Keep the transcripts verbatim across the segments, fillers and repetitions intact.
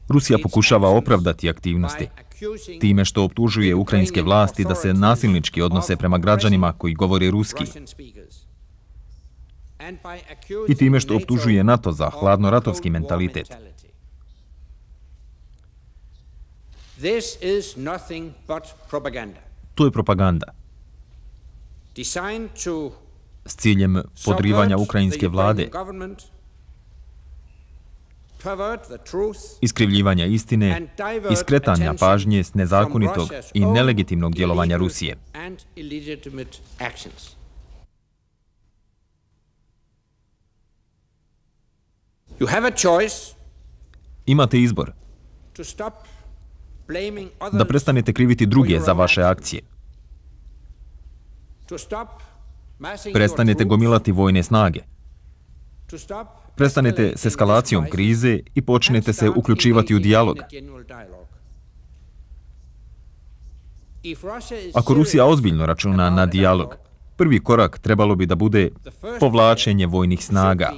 Rusija pokušava opravdati aktivnosti time što optužuje ukrajinske vlasti da se nasilnički odnose prema građanima koji govore ruski i time što optužuje NATO za hladnoratovski mentalitet. To je propaganda s ciljem podrivanja ukrajinske vlade, iskrivljivanja istine i skretanja pažnje s nezakonitog i nelegitimnog djelovanja Rusije. Imate izbor da prestanete kriviti druge za vaše akcije. Prestanete gomilati vojne snage. Prestanete s eskalacijom krize i počnete se uključivati u dijalog. Ako Rusija ozbiljno računa na dijalog, prvi korak trebalo bi da bude povlačenje vojnih snaga.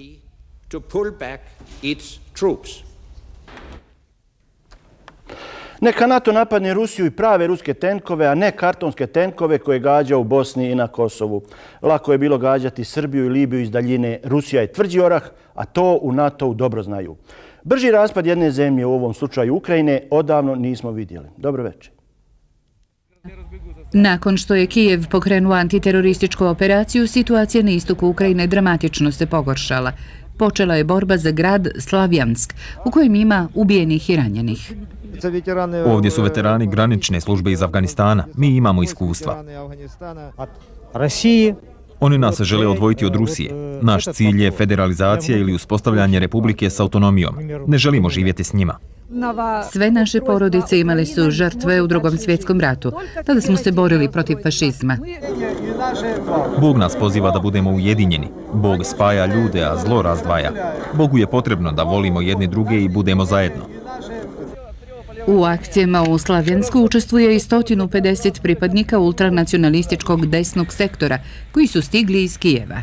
Neka NATO napadne Rusiju i prave ruske tenkove, a ne kartonske tenkove koje gađa u Bosni i na Kosovu. Lako je bilo gađati Srbiju i Libiju iz daljine. Rusija je tvrđi orah, a to u NATO-u dobro znaju. Brži raspad jedne zemlje, u ovom slučaju Ukrajine, odavno nismo vidjeli. Dobro večer. Nakon što je Kijev pokrenuo antiterorističku operaciju, situacija na istoku Ukrajine dramatično se pogoršala. Počela je borba za grad Slavjansk, u kojem ima ubijenih i ranjenih. Ovdje su veterani granične službe iz Afganistana. Mi imamo iskustva. Oni nas žele odvojiti od Rusije. Naš cilj je federalizacija ili uspostavljanje republike s autonomijom. Ne želimo živjeti s njima. Sve naše porodice imale su žrtve u Drugom svjetskom ratu. Tada smo se borili protiv fašizma. Bog nas poziva da budemo ujedinjeni. Bog spaja ljude, a zlo razdvaja. Bogu je potrebno da volimo jedni druge i budemo zajedno. U akcijama u Slavjansku učestvuje i sto pedeset pripadnika ultranacionalističkog desnog sektora koji su stigli iz Kijeva.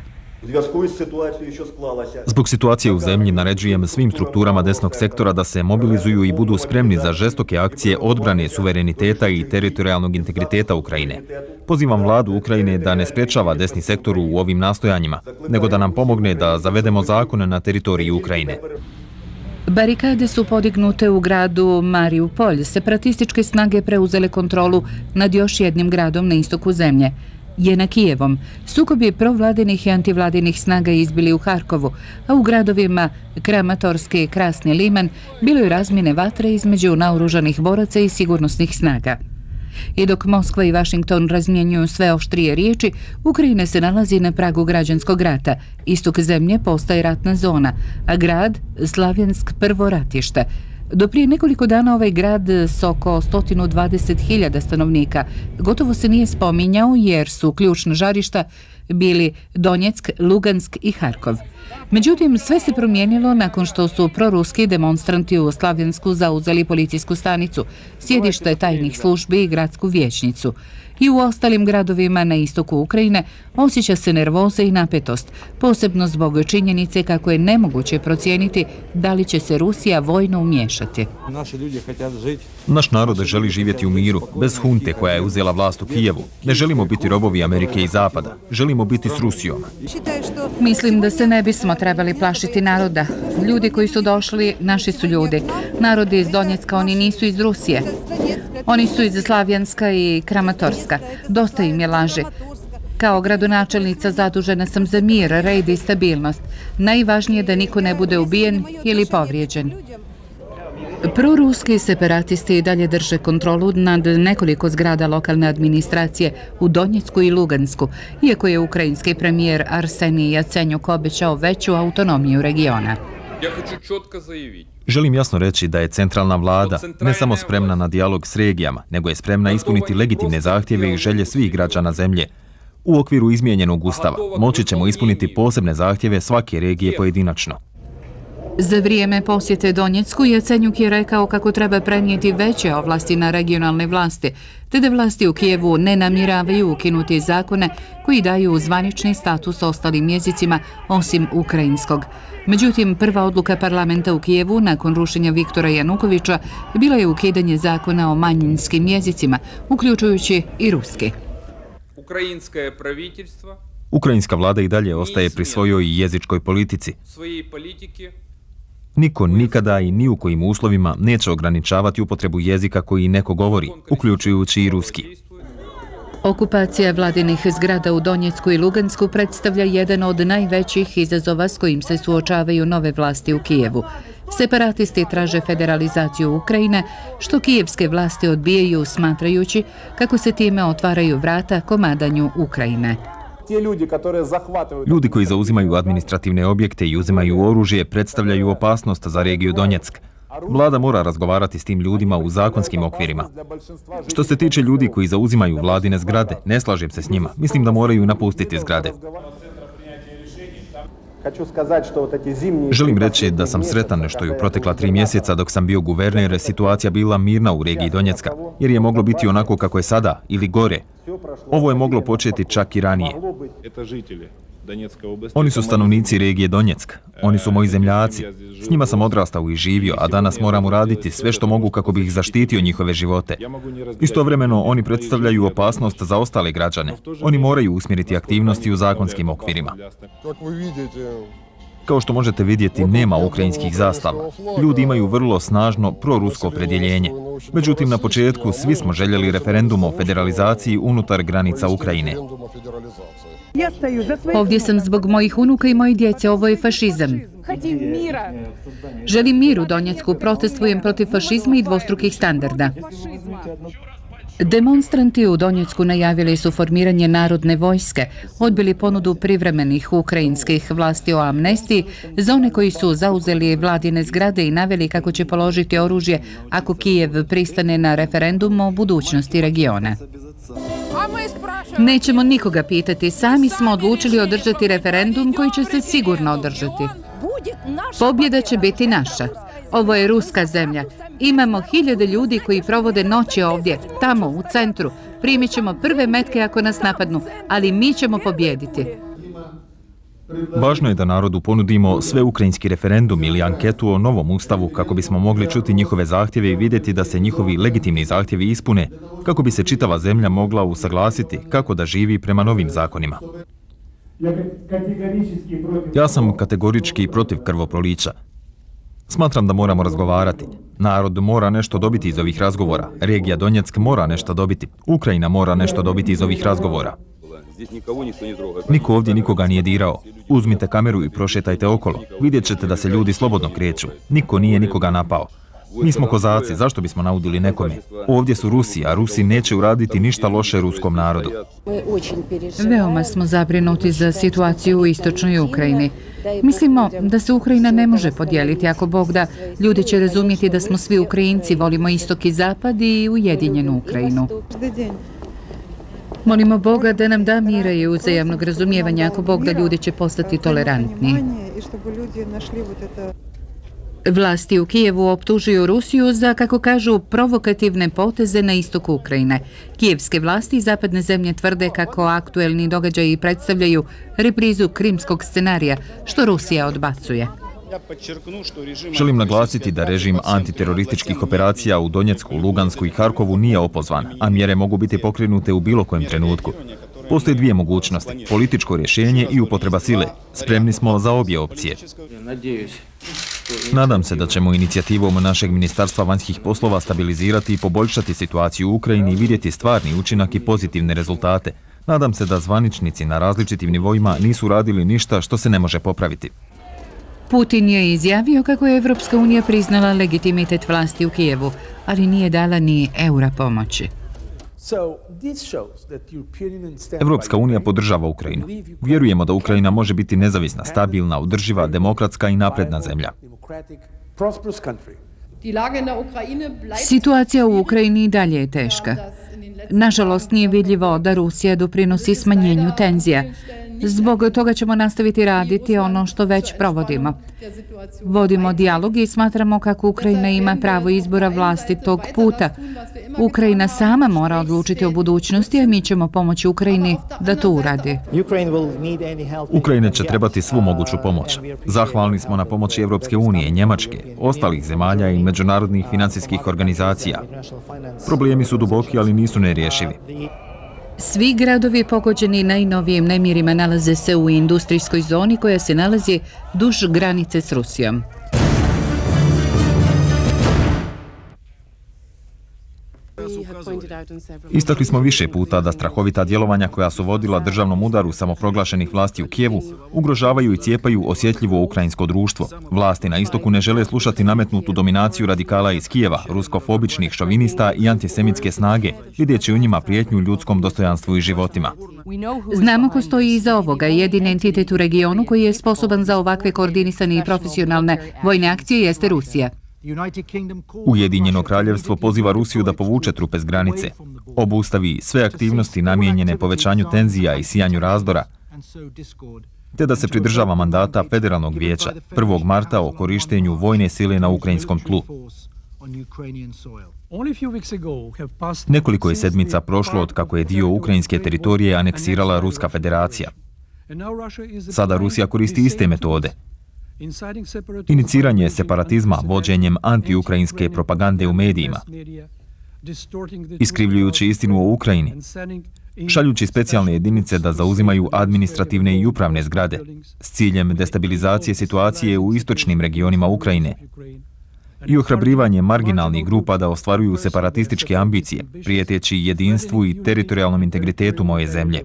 Zbog situacije u zemlji naređujem svim strukturama desnog sektora da se mobilizuju i budu spremni za žestoke akcije odbrane suvereniteta i teritorijalnog integriteta Ukrajine. Pozivam vladu Ukrajine da ne sprečava desni sektor u ovim nastojanjima, nego da nam pomogne da zavedemo zakone na teritoriji Ukrajine. Barikade su podignute u gradu Mariupolj. Separatističke snage preuzele kontrolu nad još jednim gradom na istoku zemlje. Je na Kijevom. Sukobi provladinih i antivladinih snaga izbili u Harkovu, a u gradovima Kramatorski i Krasni Liman bilo je razmjene vatre između naoružanih boraca i sigurnosnih snaga. I dok Moskva i Vašington razmjenjuju sve oštrije riječi, Ukrajina se nalazi na pragu građanskog rata. Istok zemlje postaje ratna zona, a grad Slavjansk prvo ratište. Do prije nekoliko dana ovaj grad s oko sto dvadeset hiljada stanovnika gotovo se nije spominjao jer su ključna žarišta bili Donjeck, Lugansk i Harkov. Međutim, sve se promijenilo nakon što su proruski demonstranti u Slavjansku zauzeli policijsku stanicu, sjedište tajnih službi i gradsku vijećnicu. I u ostalim gradovima na istoku Ukrajine osjeća se nervoza i napetost, posebno zbog činjenice kako je nemoguće procijeniti da li će se Rusija vojno umiješati. Naš narod želi živjeti u miru, bez hunte koja je uzela vlast u Kijevu. Ne želimo biti robovi Amerike i Zapada, želimo biti s Rusijom. Mislim da se ne bismo trebali plašiti naroda. Ljudi koji su došli, naši su ljudi. Narodi iz Donjecka, oni nisu iz Rusije. Oni su iz Slavjanska i Kramatorska. Dosta im je laži. Kao gradonačelnica zadužena sam za mir, red i stabilnost. Najvažnije je da niko ne bude ubijen ili povrijeđen. Proruski separatisti dalje drže kontrolu nad nekoliko zgrada lokalne administracije u Donjecku i Lugansku, iako je ukrajinski premijer Arsenij Jacenjuk obećao veću autonomiju regiona. Želim jasno reći da je centralna vlada ne samo spremna na dijalog s regijama, nego je spremna ispuniti legitimne zahtjeve i želje svih građana zemlje. U okviru izmijenjenog ustava moći ćemo ispuniti posebne zahtjeve svake regije pojedinačno. Za vrijeme posjete Donjecku Jacenjuk je rekao kako treba prenijeti veće ovlasti na regionalne vlasti, te da vlasti u Kijevu ne namjeravaju ukinuti zakone koji daju zvanični status ostalim jezicima osim ukrajinskog. Međutim, prva odluka parlamenta u Kijevu nakon rušenja Viktora Janukovića bila je ukidanje zakona o manjinskim jezicima, uključujući i ruski. Ukrajinska vlada i dalje ostaje pri svojoj jezičkoj politici. Niko nikada i ni u kojim uslovima neće ograničavati upotrebu jezika koji neko govori, uključujući i ruski. Okupacija vladinih zgrada u Donjecku i Lugansku predstavlja jedan od najvećih izazova s kojim se suočavaju nove vlasti u Kijevu. Separatisti traže federalizaciju Ukrajine, što kijevske vlasti odbijaju smatrajući kako se time otvaraju vrata komadanju Ukrajine. Ljudi koji zauzimaju administrativne objekte i uzimaju oružje predstavljaju opasnost za regiju Donjeck. Vlada mora razgovarati s tim ljudima u zakonskim okvirima. Što se tiče ljudi koji zauzimaju vladine zgrade, ne slažem se s njima. Mislim da moraju napustiti zgrade. Želim reći da sam sretan što je u protekla tri mjeseca dok sam bio guverner situacija bila mirna u regiji Donjecka, jer je moglo biti onako kako je sada ili gore. Ovo je moglo početi čak i ranije. Oni su stanovnici regije Donjeck. Oni su moji zemljaci. S njima sam odrastao i živio, a danas moram uraditi sve što mogu kako bih zaštitio njihove živote. Istovremeno, oni predstavljaju opasnost za ostale građane. Oni moraju usmjeriti aktivnosti u zakonskim okvirima. Kao što možete vidjeti, nema ukrajinskih zastava. Ljudi imaju vrlo snažno prorusko opredjeljenje. Međutim, na početku svi smo željeli referendum o federalizaciji unutar granica Ukrajine. Ovdje sam zbog mojih unuka i moje djece, ovo je fašizam. Želim mir u Donjecku, protestujem protiv fašizma i dvostrukih standarda. Demonstranti u Donjecku najavili su formiranje narodne vojske, odbili ponudu privremenih ukrajinskih vlasti o amnestiji za one koji su zauzeli vladine zgrade i naveli kako će položiti oružje ako Kijev pristane na referendum o budućnosti regiona. Nećemo nikoga pitati, sami smo odlučili održati referendum koji će se sigurno održati. Pobjeda će biti naša. Ovo je ruska zemlja. Imamo hiljade ljudi koji provode noći ovdje, tamo, u centru. Primit ćemo prve metke ako nas napadnu, ali mi ćemo pobjediti. Važno je da narodu ponudimo sveukrajinski referendum ili anketu o novom ustavu kako bismo mogli čuti njihove zahtjeve i vidjeti da se njihovi legitimni zahtjevi ispune, kako bi se čitava zemlja mogla usaglasiti kako da živi prema novim zakonima. Ja sam kategorički protiv krvoprolića. Smatram da moramo razgovarati. Narod mora nešto dobiti iz ovih razgovora. Regija Donjeck mora nešto dobiti. Ukrajina mora nešto dobiti iz ovih razgovora. Niko ovdje nikoga nije dirao. Uzmite kameru i prošetajte okolo. Vidjet ćete da se ljudi slobodno kreću. Niko nije nikoga napao. Mi smo kozaci, zašto bismo naudili nekome? Ovdje su Rusi, a Rusi neće uraditi ništa loše ruskom narodu. Veoma smo zabrinuti za situaciju u istočnoj Ukrajini. Mislimo da se Ukrajina ne može podijeliti. Ako Bog da, ljudi će razumjeti da smo svi Ukrajinci, volimo istok i zapad i ujedinjenu Ukrajinu. Molimo Boga da nam da mira i uzajamnog razumijevanja. Ako Bog da, ljudi će postati tolerantni. Vlasti u Kijevu optužuju Rusiju za, kako kažu, provokativne poteze na istoku Ukrajine. Kijevske vlasti i zapadne zemlje tvrde kako aktuelni događaji predstavljaju reprizu krimskog scenarija, što Rusija odbacuje. Želim naglasiti da režim antiterorističkih operacija u Donjecku, Lugansku i Harkovu nije opozvan, a mjere mogu biti pokrenute u bilo kojem trenutku. Postoje dvije mogućnosti, političko rješenje i upotreba sile. Spremni smo za obje opcije. Nadam se da ćemo inicijativom našeg Ministarstva vanjskih poslova stabilizirati i poboljšati situaciju u Ukrajini i vidjeti stvarni učinak i pozitivne rezultate. Nadam se da zvaničnici na različitim nivoima nisu radili ništa što se ne može popraviti. Putin je izjavio kako je Evropska unija priznala legitimitet vlasti u Kijevu, ali nije dala ni eura pomoći. Evropska unija podržava Ukrajinu. Vjerujemo da Ukrajina može biti nezavisna, stabilna, održiva, demokratska i napredna zemlja. Situacija u Ukrajini i dalje je teška. Nažalost, nije vidljivo da Rusija doprinosi smanjenju tenzija. Zbog toga ćemo nastaviti raditi ono što već provodimo. Vodimo dijalog i smatramo kako Ukrajina ima pravo izbora vlastitog puta. Ukrajina sama mora odlučiti o budućnosti, a mi ćemo pomoći Ukrajini da to uradi. Ukrajina će trebati svu moguću pomoć. Zahvalni smo na pomoći Evropske unije, Njemačke, ostalih zemalja i međunarodnih financijskih organizacija. Problemi su duboki, ali nisu nerješivi. Svi gradovi pogođeni najnovijim nemirima nalaze se u industrijskoj zoni koja se nalazi duž granice s Rusijom. Istakli smo više puta da strahovita djelovanja koja su vodila državnom udaru samoproglašenih vlasti u Kijevu ugrožavaju i cijepaju osjetljivo ukrajinsko društvo. Vlasti na istoku ne žele slušati nametnutu dominaciju radikala iz Kijeva, ruskofobičnih šovinista i antisemitske snage, vidjeći u njima prijetnju ljudskom dostojanstvu i životima. Znamo ko stoji iza ovoga. Jedini entitet u regionu koji je sposoban za ovakve koordinisane i profesionalne vojne akcije jeste Rusija. Ujedinjeno kraljevstvo poziva Rusiju da povuče trupe s granice, obustavi sve aktivnosti namijenjene povećanju tenzija i sijanju razdora, te da se pridržava mandata Federalnog vijeća prvog marta o korištenju vojne sile na ukrajinskom tlu. Nekoliko je sedmica prošlo od kako je dio ukrajinske teritorije aneksirala Ruska federacija. Sada Rusija koristi iste metode. Iniciranje separatizma vođenjem anti-ukrajinske propagande u medijima, iskrivljujući istinu o Ukrajini, šaljući specijalne jedinice da zauzimaju administrativne i upravne zgrade s ciljem destabilizacije situacije u istočnim regionima Ukrajine i ohrabrivanje marginalnih grupa da ostvaruju separatističke ambicije, prijeteći jedinstvu i teritorijalnom integritetu moje zemlje.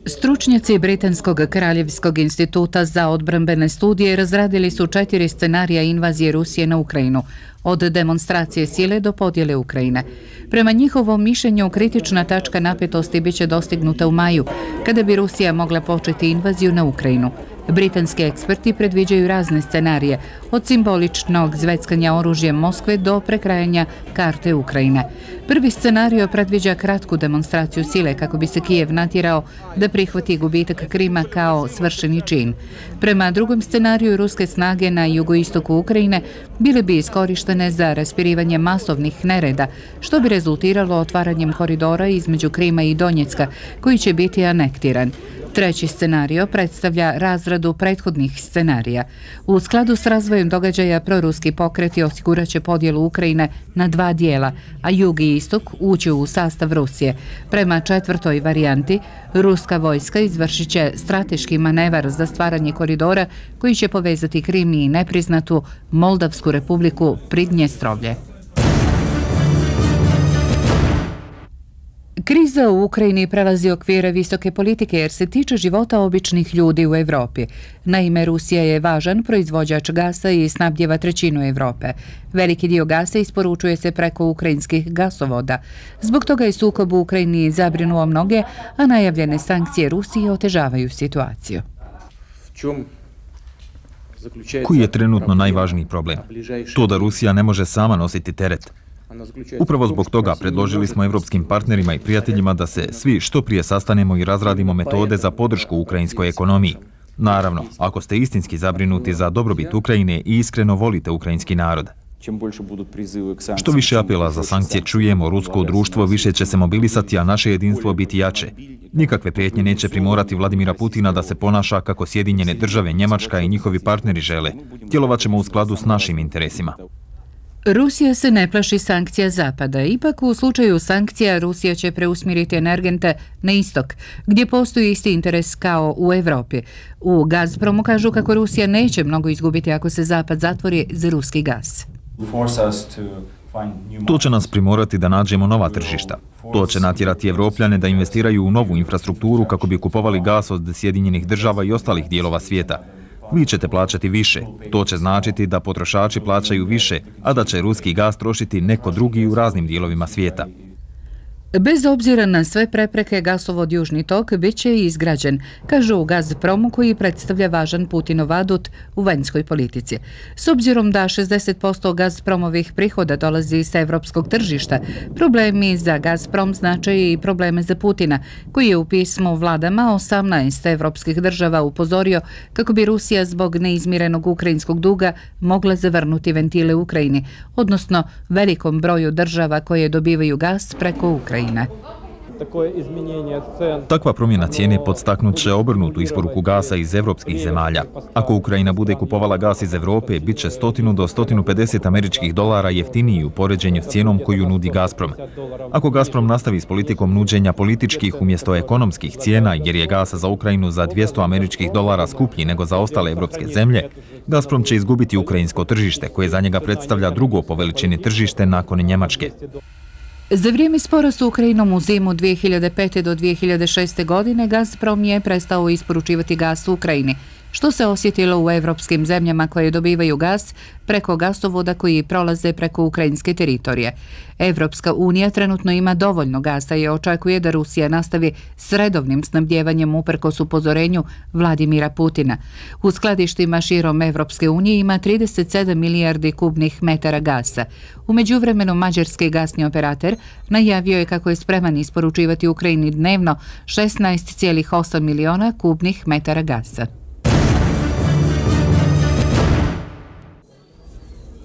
Stručnjaci Britanskog kraljevskog instituta za odbrambene studije razradili su četiri scenarija invazije Rusije na Ukrajinu, od demonstracije sile do podjele Ukrajine. Prema njihovom mišljenju, kritična tačka napetosti biće dostignuta u maju, kada bi Rusija mogla početi invaziju na Ukrajinu. Britanski eksperti predviđaju razne scenarije, od simboličnog zveckanja oružjem Moskve do prekrajanja karte Ukrajine. Prvi scenario predviđa kratku demonstraciju sile kako bi se Kijev natjerao da prihvati gubitak Krima kao svršeni čin. Prema drugom scenariju, ruske snage na jugoistoku Ukrajine bile bi iskorištene za raspirivanje masovnih nereda, što bi rezultiralo otvaranjem koridora između Krima i Donjecka, koji će biti anektiran. Treći scenario predstavlja razradu prethodnih scenarija. U skladu s razvojem događaja, proruski pokreti osiguraće podjelu Ukrajine na dva dijela, a jug i istok ući u sastav Rusije. Prema četvrtoj varijanti, ruska vojska izvršit će strateški manevar za stvaranje koridora koji će povezati Krim i nepriznatu Moldavsku republiku Pridnjestrovlje. Kriza u Ukrajini prelazi okvire visoke politike jer se tiče života običnih ljudi u Evropi. Naime, Rusija je važan proizvođač gasa i snabdjeva trećinu Evrope. Veliki dio gasa isporučuje se preko ukrajinskih gasovoda. Zbog toga je sukob u Ukrajini zabrinuo mnoge, a najavljene sankcije Rusije otežavaju situaciju. Koji je trenutno najvažniji problem? To da Rusija ne može sama nositi teret. Upravo zbog toga predložili smo evropskim partnerima i prijateljima da se svi što prije sastanemo i razradimo metode za podršku ukrajinskoj ekonomiji. Naravno, ako ste istinski zabrinuti za dobrobit Ukrajine i iskreno volite ukrajinski narod. Što više apela za sankcije čujemo, rusko društvo više će se mobilisati, a naše jedinstvo biti jače. Nikakve prijetnje neće primorati Vladimira Putina da se ponaša kako Sjedinjene države, Njemačka i njihovi partneri žele. Djelovat ćemo u skladu s našim interesima. Rusija se ne plaši sankcija Zapada. Ipak u slučaju sankcija Rusija će preusmjeriti energente na istok, gdje postoji isti interes kao u Evropi. U Gazpromu kažu kako Rusija neće mnogo izgubiti ako se Zapad zatvori za ruski gaz. To će nas primorati da nađemo nova tržišta. To će natjerati Evropljane da investiraju u novu infrastrukturu kako bi kupovali gas od Sjedinjenih država i ostalih dijelova svijeta. Vi ćete plaćati više. To će značiti da potrošači plaćaju više, a da će ruski gaz trošiti neko drugi u raznim dijelovima svijeta. Bez obzira na sve prepreke, gasovod Južni tok bit će i izgrađen, kažu u Gazpromu, koji predstavlja važan Putinov adut u vanjskoj politici. S obzirom da šezdeset posto Gazpromovih prihoda dolazi s evropskog tržišta, problemi za Gazprom znače i probleme za Putina, koji je u pismu vladama osamnaest evropskih država upozorio kako bi Rusija zbog neizmirenog ukrajinskog duga mogla zavrnuti ventile Ukrajini, odnosno velikom broju država koje dobivaju gas preko Ukrajine. Takva promjena cijene podstaknut će obrnutu isporuku gasa iz evropskih zemalja. Ako Ukrajina bude kupovala gas iz Evrope, bit će sto do sto pedeset američkih dolara jeftiniji u poređenju s cijenom koju nudi Gazprom. Ako Gazprom nastavi s politikom nuđenja političkih umjesto ekonomskih cijena, jer je gas za Ukrajinu za dvjesto američkih dolara skuplji nego za ostale evropske zemlje, Gazprom će izgubiti ukrajinsko tržište, koje za njega predstavlja drugo po veličini tržište nakon Njemačke. Za vrijeme spora s Ukrajinom u zimu dvije hiljade pete do dvije hiljade šeste. godine Gazprom je prestao isporučivati gas u Ukrajini, što se osjetilo u evropskim zemljama koje dobivaju gas preko gasovoda koji prolaze preko ukrajinske teritorije. Evropska unija trenutno ima dovoljno gasa i očekuje da Rusija nastavi s redovnim snabdjevanjem uprkos upozorenju Vladimira Putina. U skladištima širom Evropske unije ima trideset sedam milijardi kubnih metara gasa. U međuvremenu mađarski gasni operator najavio je kako je spreman isporučivati Ukrajini dnevno šesnaest zarez osam miliona kubnih metara gasa.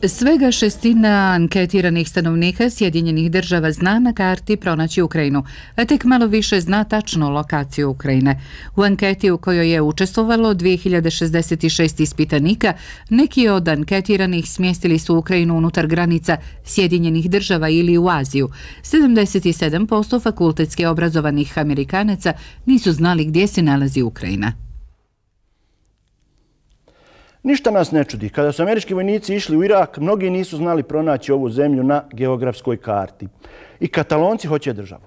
Svega šestina anketiranih stanovnika Sjedinjenih država zna na karti pronaći Ukrajinu, a tek malo više zna tačnu lokaciju Ukrajine. U anketi u kojoj je učestvovalo dvije hiljade šezdeset šest ispitanika, neki od anketiranih smjestili su Ukrajinu unutar granica Sjedinjenih država ili u Aziju. sedamdeset sedam posto fakultetski obrazovanih Amerikanaca nisu znali gdje se nalazi Ukrajina. Ništa nas ne čudi. Kada su američki vojnici išli u Irak, mnogi nisu znali pronaći ovu zemlju na geografskoj karti. I Katalonci hoće državu.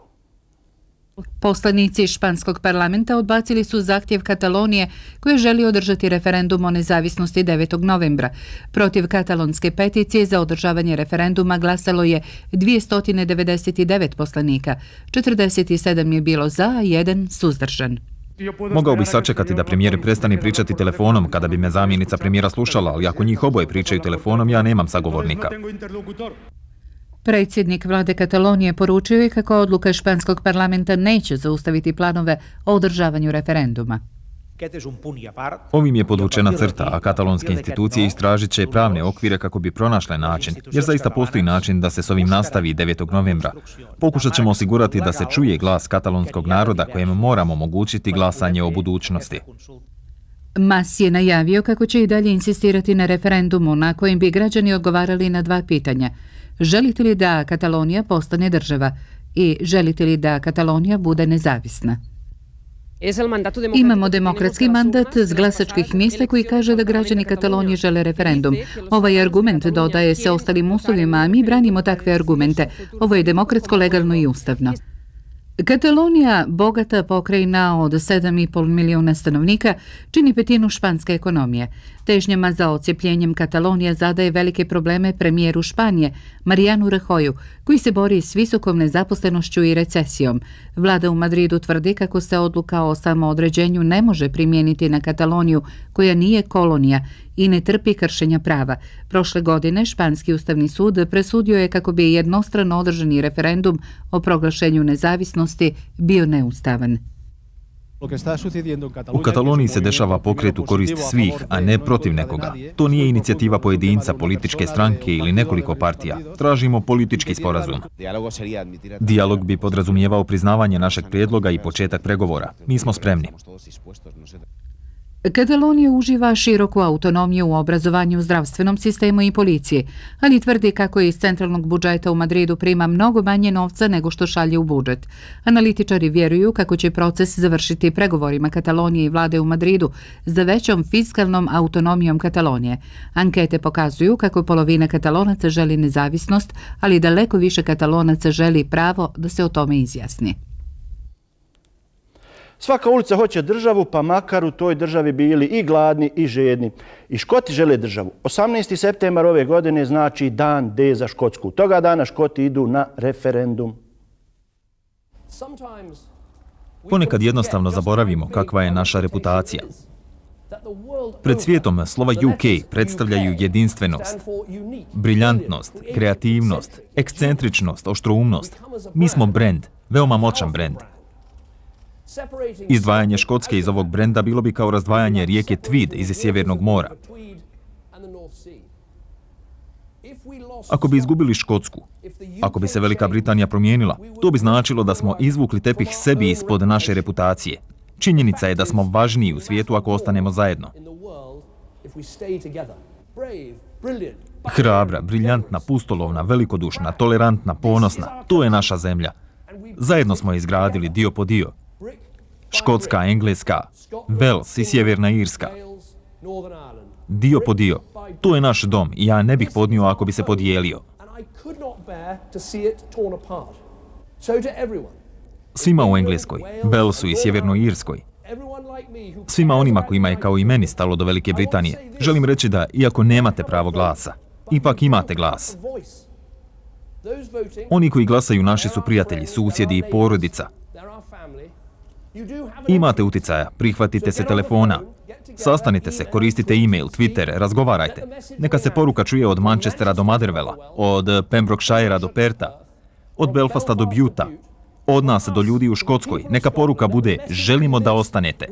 Poslanici španskog parlamenta odbacili su zahtjev Katalonije koji želi održati referendum o nezavisnosti devetog novembra. Protiv katalonske peticije za održavanje referenduma glasalo je dvjesto devedeset devet poslanika. četrdeset sedam je bilo za, a jedan suzdržan. Mogao bih sačekati da premijer prestane pričati telefonom kada bi me zamjenica premijera slušala, ali ako njih oboje pričaju telefonom, ja nemam sagovornika. Predsjednik vlade Katalonije poručio je kako odluka španskog parlamenta neće zaustaviti planove o održavanju referenduma. Ovim je podvučena crta, a katalonske institucije istražit će pravne okvire kako bi pronašle način, jer zaista postoji način da se s ovim nastavi devetog novembra. Pokušat ćemo osigurati da se čuje glas katalonskog naroda kojem moramo omogućiti glasanje o budućnosti. Mas je najavio kako će i dalje insistirati na referendumu na kojem bi građani odgovarali na dva pitanja. Želite li da Katalonija postane država i želite li da Katalonija bude nezavisna? Imamo demokratski mandat s glasačkih mjesta koji kaže da građani Katalonije žele referendum. Ovaj argument dodaje se ostalim uslovima, a mi branimo takve argumente. Ovo je demokratsko, legalno i ustavno. Katalonija, bogata pokrajina od sedam i pol milijuna stanovnika, čini petinu španske ekonomije. Težnjama za odcjepljenjem Katalonije zadaje velike probleme premijeru Španije, Marianu Rajoyu, koji se bori s visokom nezaposlenošću i recesijom. Vlada u Madridu tvrdi kako se odluka o samoodređenju ne može primijeniti na Kataloniju, koja nije kolonija i ne trpi kršenja prava. Prošle godine Španski ustavni sud presudio je kako bi jednostrano održani referendum o proglašenju nezavisnosti bio neustavan. U Kataloniji se dešava pokret u korist svih, a ne protiv nekoga. To nije inicijativa pojedinca, političke stranke ili nekoliko partija. Tražimo politički sporazum. Dijalog bi podrazumijevao priznavanje našeg prijedloga i početak pregovora. Mi smo spremni. Katalonija uživa široku autonomiju u obrazovanju, zdravstvenom sistemu i policiji, ali tvrdi kako iz centralnog budžeta u Madridu prima mnogo manje novca nego što šalje u budžet. Analitičari vjeruju kako će proces završiti pregovorima Katalonije i vlade u Madridu za većom fiskalnom autonomijom Katalonije. Ankete pokazuju kako polovina Katalonaca želi nezavisnost, ali daleko više Katalonaca želi pravo da se o tome izjasni. Svaka ulica hoće državu, pa makar u toj državi bili i gladni i žedni. I Škoti žele državu. osamnaesti septembar ove godine znači dan D za Škotsku. Toga dana Škoti idu na referendum. Ponekad jednostavno zaboravimo kakva je naša reputacija. Pred svijetom slova U K predstavljaju jedinstvenost, briljantnost, kreativnost, ekscentričnost, oštroumnost. Mi smo brend, veoma moćan brend. Izdvajanje Škotske iz ovog brenda bilo bi kao razdvajanje rijeke Tweed iz Sjevernog mora. Ako bi izgubili Škotsku, ako bi se Velika Britanija promijenila, to bi značilo da smo izvukli tepih sebi ispod naše reputacije. Činjenica je da smo važniji u svijetu ako ostanemo zajedno. Hrabra, briljantna, pustolovna, velikodušna, tolerantna, ponosna, to je naša zemlja. Zajedno smo je izgradili dio po dio. Škotska, Engleska, Wales i Sjeverna Irska. Dio po dio. To je naš dom i ja ne bih podnio ako bi se podijelio. Svima u Engleskoj, Walesu i Sjevernoj Irskoj, svima onima kojima je kao i meni stalo do Velike Britanije, želim reći da, iako nemate pravo glasa, ipak imate glas. Oni koji glasaju naši su prijatelji, susjedi i porodica. Imate uticaja, prihvatite se telefona, sastanite se, koristite e-mail, Twitter, razgovarajte. Neka se poruka čuje od Manchestera do Motherwella, od Pembrokeshirea do Perta, od Belfasta do Buta, od nas do ljudi u Škotskoj. Neka poruka bude: želimo da ostanete.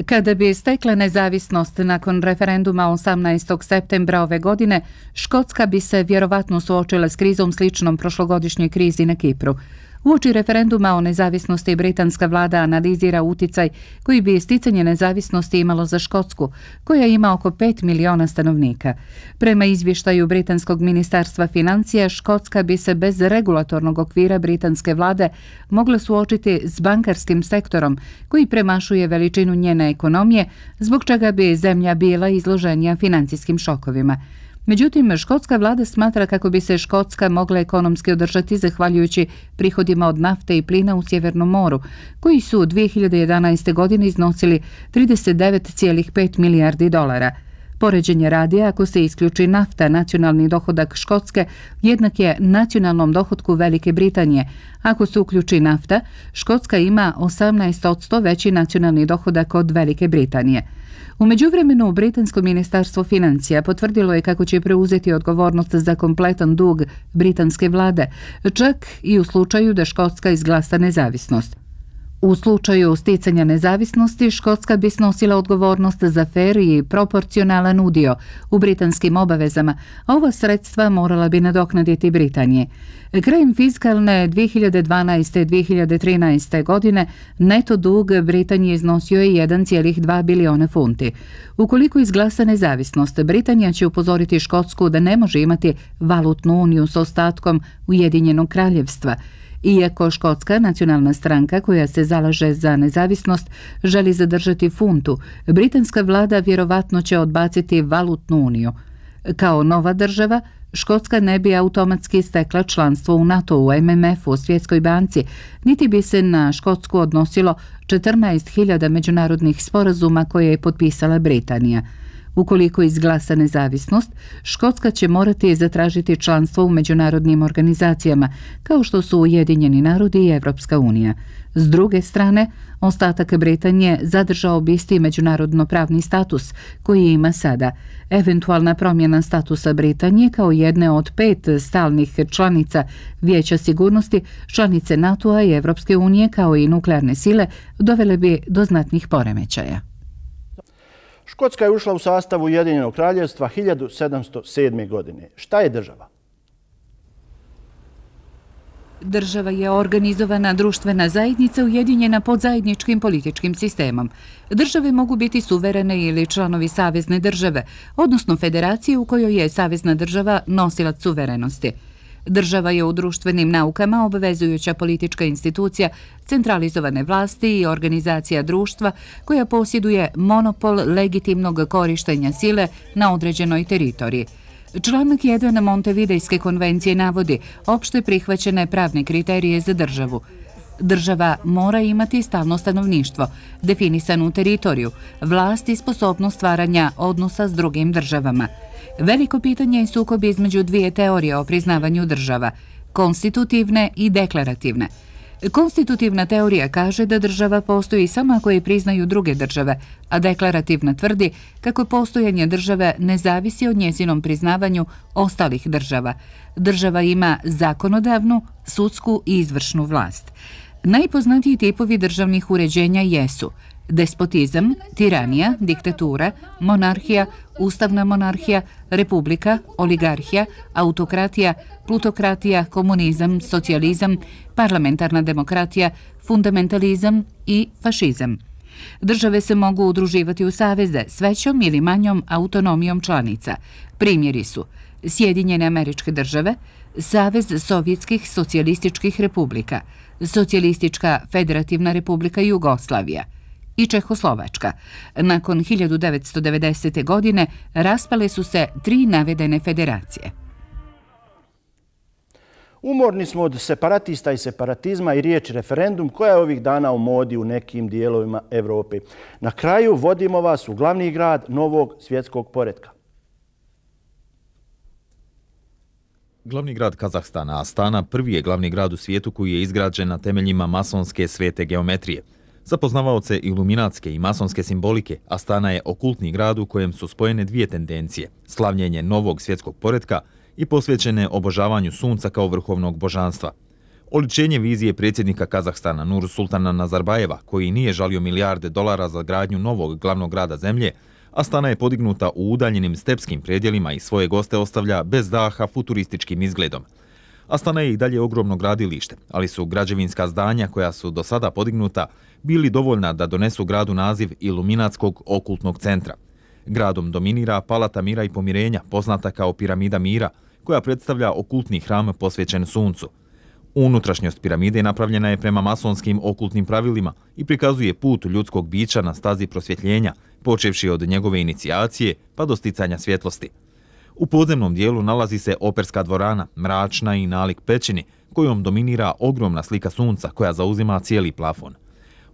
Kada bi stekla nezavisnost nakon referenduma osamnaestog septembra ove godine, Škotska bi se vjerovatno suočila s krizom sličnom prošlogodišnjoj krizi na Kipru. Uoči referenduma o nezavisnosti britanska vlada analizira uticaj koji bi sticanje nezavisnosti imalo za Škotsku, koja ima oko pet miliona stanovnika. Prema izvještaju britanskog ministarstva financija, Škotska bi se bez regulatornog okvira britanske vlade mogla suočiti s bankarskim sektorom koji premašuje veličinu njene ekonomije, zbog čega bi zemlja bila izloženija financijskim šokovima. Međutim, škotska vlada smatra kako bi se Škotska mogla ekonomski održati zahvaljujući prihodima od nafte i plina u Sjevernom moru, koji su u dvije hiljade jedanaeste. godine iznosili trideset devet zarez pet milijardi dolara. Poređenje radi, ako se isključi nafta, nacionalni dohodak Škotske jednak je nacionalnom dohodku Velike Britanije. Ako se uključi nafta, Škotska ima osamnaest posto veći nacionalni dohodak od Velike Britanije. U međuvremenu, britansko ministarstvo financija potvrdilo je kako će preuzeti odgovornost za kompletan dug britanske vlade, čak i u slučaju da Škotska izglasa nezavisnost. U slučaju sticanja nezavisnosti, Škotska bi snosila odgovornost za fer i proporcionalan udio u britanskim obavezama, a ova sredstva morala bi nadoknaditi Britanije. Krajem fiskalne dvije hiljade dvanaeste. dvije hiljade trinaeste. godine neto dug Britanije iznosio je jedan zarez dva biliona funti. Ukoliko izglasa nezavisnost, Britanija će upozoriti Škotsku da ne može imati valutnu uniju s ostatkom Ujedinjenog kraljevstva. Iako Škotska nacionalna stranka koja se zalaže za nezavisnost želi zadržati funtu, britanska vlada vjerovatno će odbaciti valutnu uniju. Kao nova država, Škotska ne bi automatski stekla članstvo u NATO-u, M M F-u, Svjetskoj banci, niti bi se na Škotsku odnosilo četrnaest hiljada međunarodnih sporazuma koje je potpisala Britanija. Ukoliko izglasa nezavisnost, Škotska će morati zatražiti članstvo u međunarodnim organizacijama, kao što su Ujedinjeni narodi i Evropska unija. S druge strane, ostatak Britanije zadržao bi isti međunarodno pravni status koji ima sada. Eventualna promjena statusa Britanije kao jedne od pet stalnih članica Vijeća sigurnosti, članice NATO-a i Evropske unije kao i nuklearne sile dovele bi do znatnih poremećaja. Škotska je ušla u sastav Ujedinjenog kraljevstva hiljadu sedamsto sedme. godine. Šta je država? Država je organizovana društvena zajednica ujedinjena pod zajedničkim političkim sistemom. Države mogu biti suverene ili članovi savezne države, odnosno federacije u kojoj je savezna država nosilac suverenosti. Država je u društvenim naukama obvezujuća politička institucija centralizovane vlasti i organizacija društva koja posjeduje monopol legitimnog korištenja sile na određenoj teritoriji. Članak jedan Montevidejske konvencije navodi opšte prihvaćene pravne kriterije za državu. Država mora imati stalno stanovništvo, definisanu teritoriju, vlast i sposobnost stvaranja odnosa s drugim državama. Veliko pitanje je sukob između dvije teorije o priznavanju država, konstitutivne i deklarativne. Konstitutivna teorija kaže da država postoji samo ako je priznaju druge države, a deklarativna tvrdi kako postojanje države ne zavisi od njezinom priznavanju ostalih država. Država ima zakonodavnu, sudsku i izvršnu vlast. Najpoznatiji tipovi državnih uređenja jesu despotizam, tiranija, diktatura, monarhija, ustavna monarhija, republika, oligarhija, autokratija, plutokratija, komunizam, socijalizam, parlamentarna demokratija, fundamentalizam i fašizam. Države se mogu udruživati u saveze s većom ili manjom autonomijom članica. Primjeri su Sjedinjene Američke Države, Savez Sovjetskih socijalističkih republika, Socijalistička federativna republika Jugoslavija i Čehoslovačka. Nakon hiljadu devetsto devedesete. godine raspale su se tri navedene federacije. Umorni smo od separatista i separatizma i riječi referendum koja je ovih dana u modi u nekim dijelovima Evrope. Na kraju vodimo vas u glavni grad novog svjetskog poretka. Glavni grad Kazahstana, Astana, prvi je glavni grad u svijetu koji je izgrađen na temeljima masonske svete geometrije. Za poznavaoce iluminatske i masonske simbolike, Astana je okultni grad u kojem su spojene dvije tendencije, slavljenje novog svjetskog poretka i posvećene obožavanju sunca kao vrhovnog božanstva. Oličenje vizije predsjednika Kazahstana Nursultana Nazarbajeva, koji nije žalio milijarde dolara za gradnju novog glavnog grada zemlje, Astana je podignuta u udaljenim stepskim predjelima i svoje goste ostavlja bez daha futurističkim izgledom. Astana je i dalje ogromno gradilište, ali su građevinska zdanja koja su do sada podignuta bili dovoljna da donesu gradu naziv Iluminatskog okultnog centra. Gradom dominira Palata mira i pomirenja, poznata kao Piramida mira, koja predstavlja okultni hram posvećen suncu. Unutrašnjost piramide napravljena je prema masonskim okultnim pravilima i prikazuje put ljudskog bića na stazi prosvjetljenja, počevši od njegove inicijacije pa do sticanja svjetlosti. U podzemnom dijelu nalazi se operska dvorana, mračna i nalik pećini, kojom dominira ogromna slika sunca koja zauzima cijeli plafon.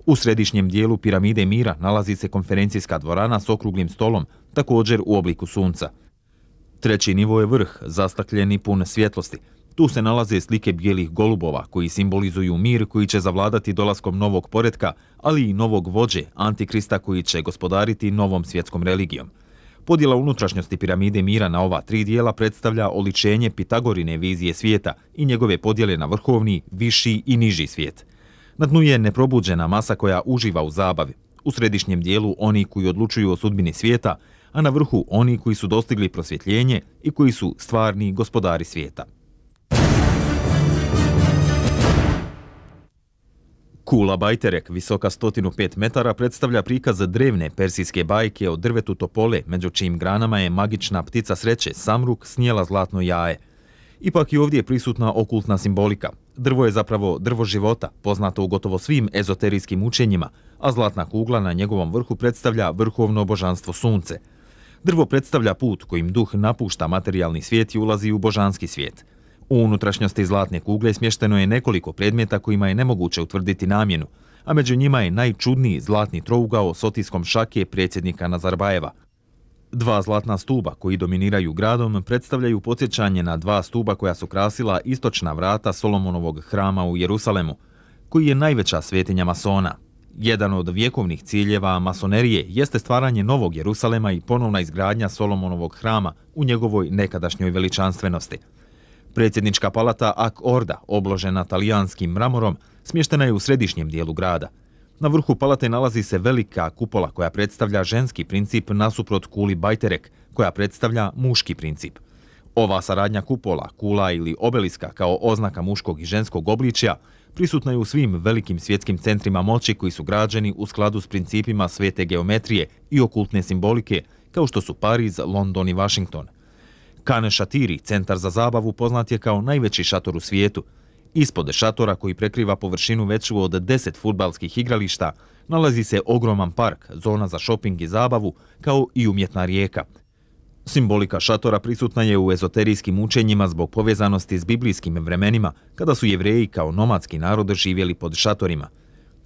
U središnjem dijelu Piramide mira nalazi se konferencijska dvorana s okruglim stolom, također u obliku sunca. Treći nivo je vrh, zastakljeni i pun svjetlosti. Tu se nalaze slike bijelih golubova koji simbolizuju mir koji će zavladati dolaskom novog poretka, ali i novog vođe, Antikrista koji će gospodariti novom svjetskom religijom. Podjela unutrašnjosti Piramide mira na ova tri dijela predstavlja oličenje Pitagorine vizije svijeta i njegove podjele na vrhovni, viši i niži svijet. Na dnu je neprobuđena masa koja uživa u zabavi. U središnjem dijelu oni koji odlučuju o sudbini svijeta, a na vrhu oni koji su dostigli prosvjetljenje i koji su stvarni gospodari svijeta. Kula Bajterek, visoka sto pet metara, predstavlja prikaz drevne persijske bajke o drvetu topole, među čijim granama je magična ptica sreće, samruk, snijela zlatno jaje. Ipak i ovdje je prisutna okultna simbolika. Drvo je zapravo drvo života, poznato u gotovo svim ezoterijskim učenjima, a zlatna kugla na njegovom vrhu predstavlja vrhovno božanstvo sunce. Drvo predstavlja put kojim duh napušta materijalni svijet i ulazi u božanski svijet. U unutrašnjosti zlatne kugle smješteno je nekoliko predmeta kojima je nemoguće utvrditi namjenu, a među njima je najčudniji zlatni trougao s otiskom šake predsjednika Nazarbajeva. Dva zlatna stuba koji dominiraju gradom predstavljaju podsjećanje na dva stuba koja su krasila istočna vrata Solomonovog hrama u Jerusalemu, koji je najveća svetinja masona. Jedan od vjekovnih ciljeva masonerije jeste stvaranje novog Jerusalema i ponovna izgradnja Solomonovog hrama u njegovoj nekadašnjoj veličanstvenosti. Predsjednička palata Ak Orda, obložena talijanskim mramorom, smještena je u središnjem dijelu grada. Na vrhu palate nalazi se velika kupola koja predstavlja ženski princip nasuprot kuli Bajterek, koja predstavlja muški princip. Ova saradnja kupola, kula ili obeliska kao oznaka muškog i ženskog obličja prisutna je u svim velikim svjetskim centrima moći koji su građeni u skladu s principima svete geometrije i okultne simbolike, kao što su Pariz, London i Washington. Khan Shatiri, centar za zabavu, poznat je kao najveći šator u svijetu. Ispod šatora, koji prekriva površinu veću od deset fudbalskih igrališta, nalazi se ogroman park, zona za šoping i zabavu, kao i umjetna rijeka. Simbolika šatora prisutna je u ezoterijskim učenjima zbog povezanosti s biblijskim vremenima, kada su Jevreji kao nomadski narod živjeli pod šatorima.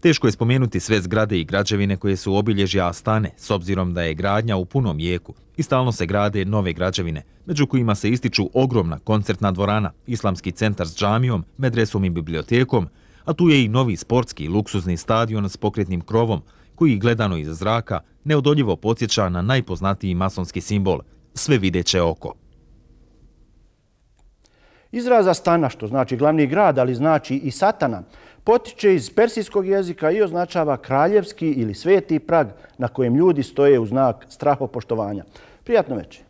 Teško je spomenuti sve zgrade i građevine koje su obilježja Astane, s obzirom da je gradnja u punom jeku i stalno se grade nove građevine, među kojima se ističu ogromna koncertna dvorana, islamski centar s džamijom, medresom i bibliotekom, a tu je i novi sportski luksuzni stadion s pokretnim krovom, koji gledano iz zraka neodoljivo podsjeća na najpoznatiji masonski simbol, sve videće oko. Izraz Astana, što znači glavni grad, ali znači i satana, potiče iz persijskog jezika i označava kraljevski ili sveti prag na kojem ljudi stoje u znak strahopoštovanja. Prijatno večer.